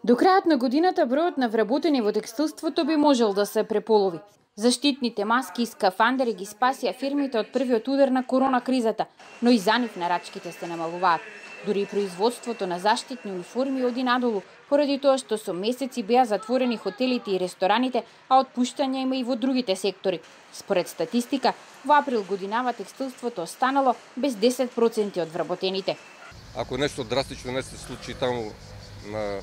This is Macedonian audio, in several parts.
До крајот на годината бројот на вработени во текстилството би можел да се преполови. Заштитните маски и скафандери ги спасија фирмите од првиот удар на корона кризата, но и за нив нарачките се намалуваат. Дури и производството на заштитни униформи оди надолу, поради тоа што со месеци беа затворени хотелите и рестораните, а отпуштања има и во другите сектори. Според статистика, во април годинава текстилството останало без 10% од вработените. Ако нешто драстично не се случи таму на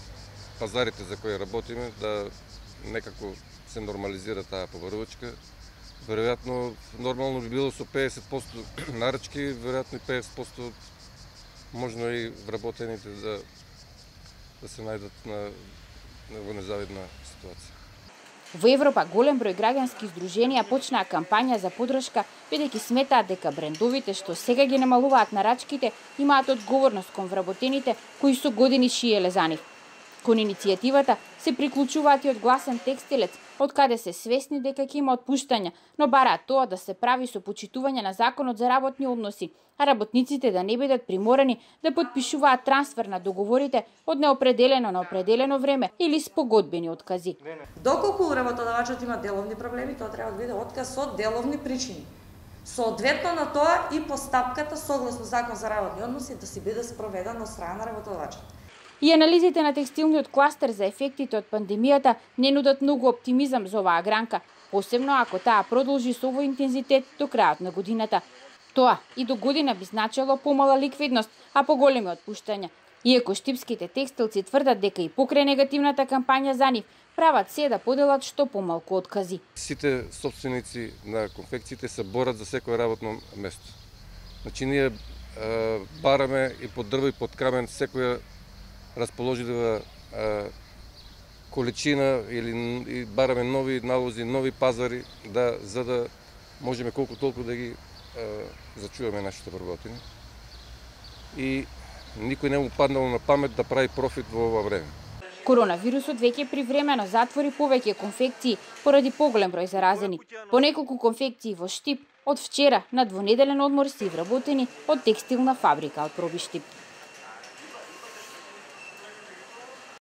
пазарите за кои работиме, да некако се нормализира таа поврвачка, веројатно нормално би било со 50% нарачки, веројатно и 50% можно и вработените да се најдат во незавидна ситуација. Во Европа голем број граѓански здруженија почнаа кампања за поддршка, бидејќи сметаат дека брендовите што сега ги намалуваат нарачките имаат одговорност кон вработените кои со години шиеле за нив. Кон иницијативата се приклучуваат и од Гласен текстилец, од каде се свесни дека ќе има отпуштања, но бараат тоа да се прави со почитување на законот за работни односи, а работниците да не бидат приморани да потпишуваат трансфер на договорите од неопределено на определено време или спогодбени откази. Доколку работодавачот има деловни проблеми, тоа треба да биде отказ со деловни причини. Соодветно на тоа и постапката согласно закон за работни односи да си биде спроведена од страна на работодавачот. И анализите на текстилниот кластер за ефектите од пандемијата не нудат многу оптимизам за оваа гранка, посебно ако таа продолжи со овој интензитет до крајот на годината. Тоа и до година би значило помала ликвидност, а поголеми отпуштања. Иако штипските текстилци тврдат дека и покрај негативната кампања за нив, прават се да поделат што помалку откази. Сите собственици на конфекциите се борат за секое работно место. Значи ние бараме и под дрво и под камен секоја расположлива количина или бараме нови налози, нови пазари, за да можеме колку толку да ги зачуваме нашите вработени. И никој не му паднало на памет да прави профит во ова време. Коронавирусот веќе привремено затвори повеќе конфекции поради поголем број заразени. По неколку конфекции во Штип од вчера на двонеделен одмор се вработени од текстилна фабрика од Пробиштип.